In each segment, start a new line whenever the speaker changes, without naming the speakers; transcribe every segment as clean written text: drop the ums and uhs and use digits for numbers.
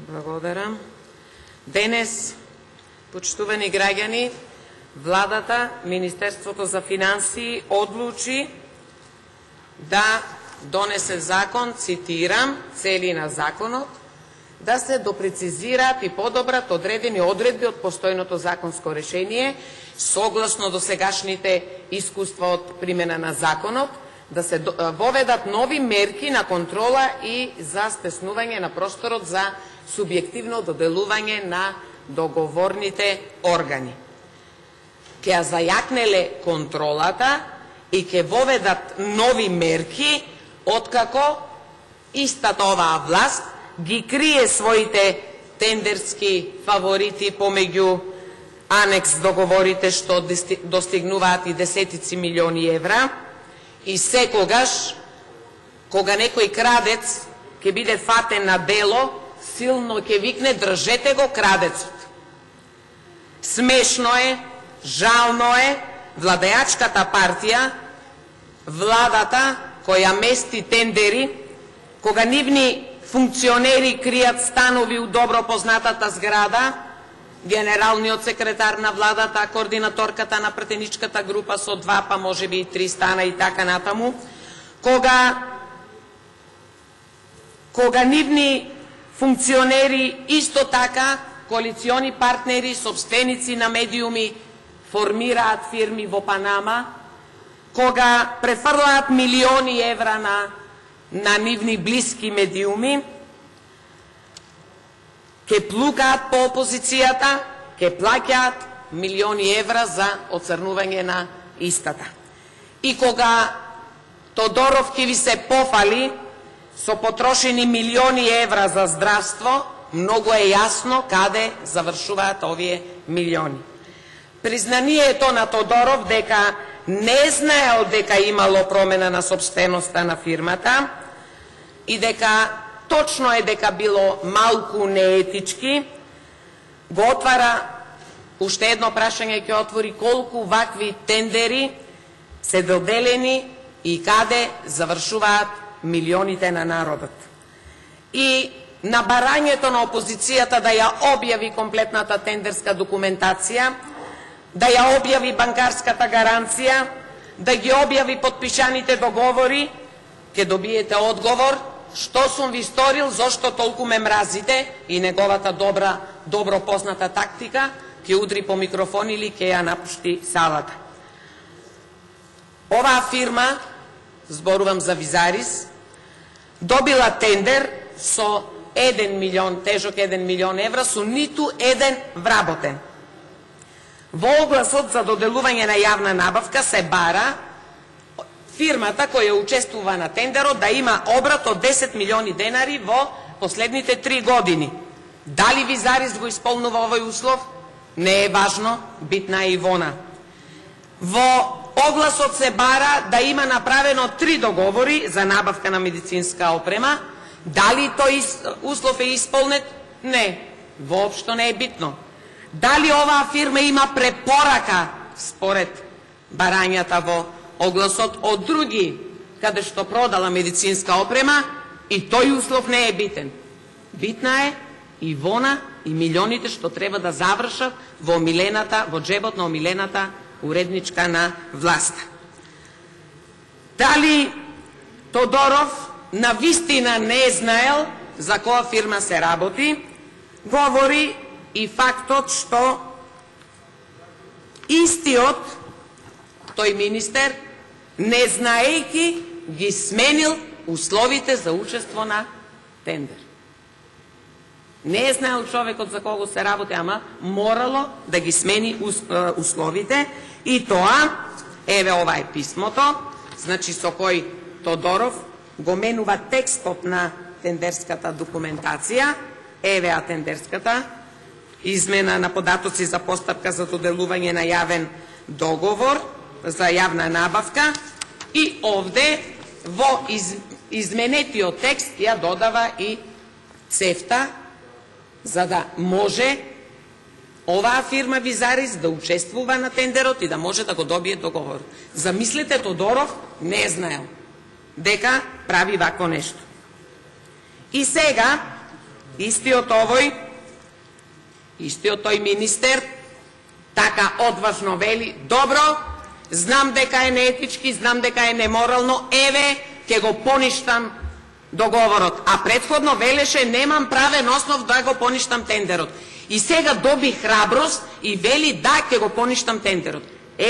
Благодарам. Денес, почитувани граѓани, владата, Министерството за финансии одлучи да донесе закон, цитирам, цели на законот, да се допрецизираат и подобрат одредени одредби од постојното законско решение, согласно досегашните искуства од примена на законот, да се воведат нови мерки на контрола и за стеснување на просторот за субјективно доделување на договорните органи. Ке ја зајакнеле контролата и ке воведат нови мерки, откако истата оваа власт ги крие своите тендерски фаворити помеѓу анекс договорите што достигнуваат и десетици милиони евра, и секогаш, кога некој крадец ќе биде фатен на дело, силно ќе викне: држете го крадецот. Смешно е, жално е, владеачката партија, владата која мести тендери, кога нивни функционери кријат станови у добро познатата зграда, генералниот секретар на владата, координаторката на пратеничката група со 2, па можеби и 3 стана и така натаму, кога нивни функционери исто така, коалициони партнери, собственици на медиуми, формираат фирми во Панама, кога префрлаат милиони евра на нивни блиски медиуми, ке плукаат по опозицијата, ке плаќаат милиони евра за оцрнување на истата. И кога Тодоров ќе ви се пофали со потрошени милиони евра за здравство, многу е јасно каде завршуваат овие милиони. Признанието на Тодоров дека не знаел дека имало промена на собственоста на фирмата и дека точно е дека било малку неетички, го отвара уште едно прашање, ќе отвори: колку вакви тендери се доделени и каде завршуваат милионите на народот. И на барањето на опозицијата да ја објави комплетната тендерска документација, да ја објави банкарската гаранција, да ги објави подпишаните договори, ќе добиете одговор: што сум ви сторил, зошто толку ме мразите, и неговата добро позната тактика: ќе удри по микрофон или ќе ја напушти салата. Оваа фирма, зборувам за Визарис, добила тендер со 1 милион, тежок 1 милион евра, со ниту еден вработен. Во огласот за доделување на јавна набавка се бара фирмата која учествува на тендерот да има обрат од 10 милиони денари во последните 3 години. Дали Визарис го исполнува овој услов? Не е важно, битна е Ивона. Во огласот се бара да има направено 3 договори за набавка на медицинска опрема. Дали тој услов е исполнет? Не, воопшто не е битно. Дали оваа фирма има препорака според барањата во огласот од други каде што продала медицинска опрема? И тој услов не е битен. Битна е Ивона и милионите што треба да завршат во џебот на омилената уредничка на власта. Дали Тодоров на вистина не знаел за која фирма се работи, говори и фактот што истиот тој министер, не знаејќи, ги сменил условите за учество на тендер. Не е знаел човекот за кого се работи, ама морало да ги смени условите, и тоа, еве ова е писмото, значи со кој Тодоров го менува текстот на тендерската документација, еве тендерската измена на податоци за постапка за доделување на јавен договор за јавна набавка, и овде во изменетиот текст ја додава и цефта, за да може оваа фирма Визарис да учествува на тендерот и да може да го добие договор. Замислете, Тодоров не е знаел дека прави вакво нешто. И сега Истиот тој министер така одважно вели: добро, знам дека е неетички, знам дека е неморално, еве, ќе го поништам договорот. А претходно велеше: немам правен основ да го поништам тендерот. И сега доби храброст и вели: да, ќе го поништам тендерот.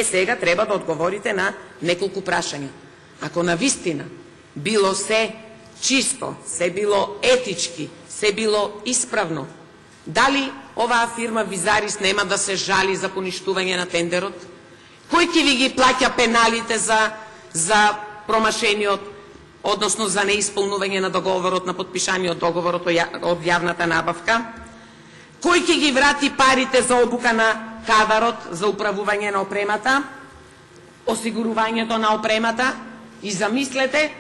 Сега треба да одговорите на неколку прашања. Ако навистина било се чисто, се било етички, се било исправно, дали оваа фирма Визарис нема да се жали за поништување на тендерот? Кој ќе ви ги плаќа пеналите за промашениот, односно за неисполнување на договорот, на подпишаниот договорот од јавната набавка? Кој ќе ги врати парите за обука на кадарот за управување на опремата, осигурувањето на опремата? И замислете,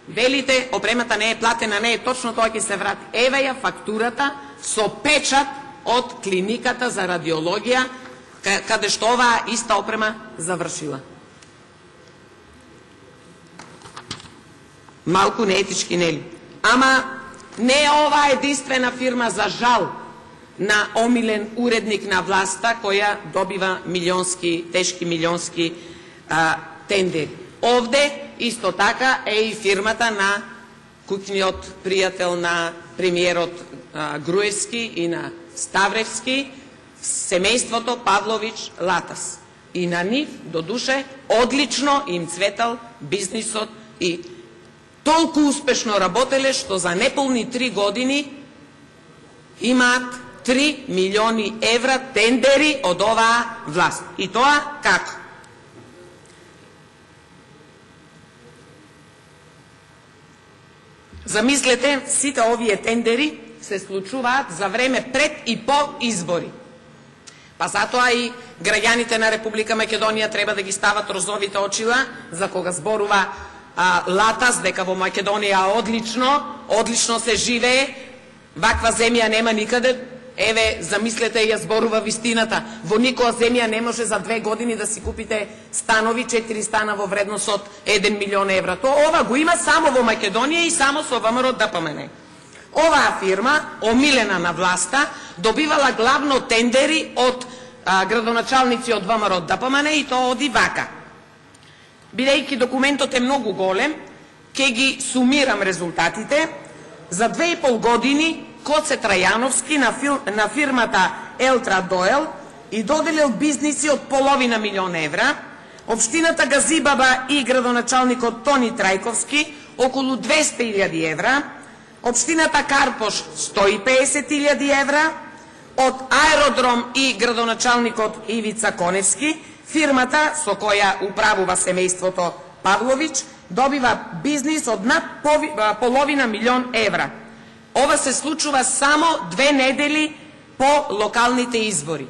велите, опремата не е платена, не е точно, тоа ќе се врати. Еве ја фактурата со печат од клиниката за радиологија, каде што оваа иста опрема завршила. Малку неетички, нели? Ама не е ова единствена фирма, за жал, на омилен уредник на власта, која добива тешки милионски тендери. Овде исто така е и фирмата на куќниот пријател на премиерот Груевски и на Ставревски, семејството Павлович-Латас. И на нив, до душе, одлично им цветал бизнисот и толку успешно работеле, што за неполни 3 години имаат 3 милиони евра тендери од оваа власт. И тоа како? Замислете, сите овие тендери се случуваат за време пред и по избори. Па затоа и граѓаните на Република Македонија треба да ги стават розовите очила за кога зборува Латас дека во Македонија одлично се живее, ваква земја нема никаде. Еве, замислете, ја зборува вистината. Во никоја земја не може за 2 години да си купите станови, 4 стана во вредност од 1 милион евра. Ова го има само во Македонија и само со ВМРО ДПМН. Оваа фирма, омилена на власта, добивала главно тендери од градоначалници од ВМРО ДПМН и тоа оди вака. Бидејќи документот е многу голем, ќе ги сумирам резултатите. За 2,5 години Коце Трајановски на фирмата Елтра Доел и доделил бизниси од половина милион евра, општината Газибаба и градоначалникот Тони Трајковски околу 200.000 евра, општината Карпош 150.000 евра, од Аеродром и градоначалникот Ивица Коневски, фирмата со која управува семејството Павлович, добива бизнис од над половина милион евра. Ова се случува само 2 недели по локалните избори.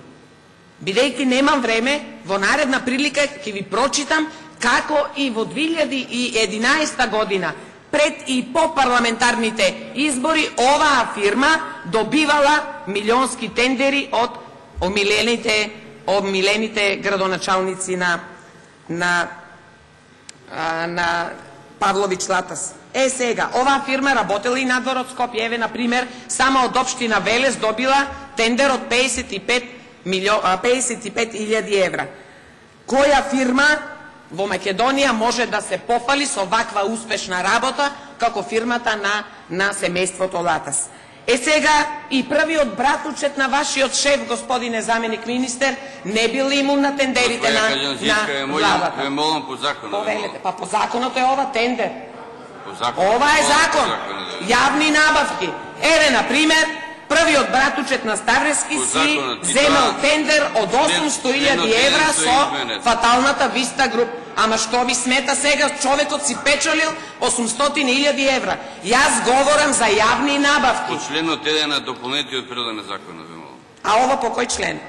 Бидејќи немам време, во наредна прилика ќе ви прочитам како и во 2011 година, пред и по парламентарните избори, оваа фирма добивала милионски тендери од омилените градоначалници на Павлович Латас. Сега, оваа фирма работела и надвор од Скопје. Еве, например, само од општина Велес добила тендер од 55.000 евра. Која фирма во Македонија може да се пофали со ваква успешна работа како фирмата на семејството Латас? Сега, и првиот братучет на вашиот шеф, господине заменик министер, не бил имун на тендерите на владата. Повелете, па по законот е ова тендер. Ова е закон. Јавни набавки. Еве, например, првиот братучет на Ставрески си земал тендер од 800.000 евра со фаталната Виста Груп. Ама што ви смета сега? Човекот си печалил 800.000 евра. Јас говорам за јавни набавки.
По членот 1 на дополнетиот предлог на законот.
А ова по кој член?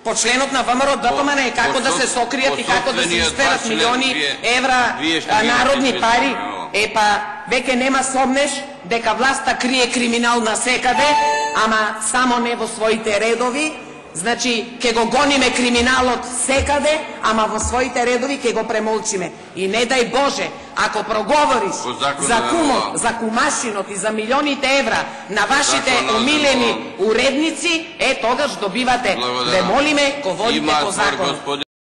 По членот на ВМРО ДПМН, како да се сокријат и како да се исперат милиони евра народни пари. Епа, веќе нема сомнеш дека власта крие криминал на секаде, ама само не во своите редови. Значи, ќе го гониме криминалот секаде, ама во своите редови ќе го премолчиме. И не дај Боже, ако проговориш
По законот
за
на
кумот,
НОА.
за кумашинот и за милионите евра на вашите
Законот на
омилени
НОА.
уредници, тогаш добивате.
Благодарам.
Ве молиме, го водите
Има
по
створ,
законот.
господи.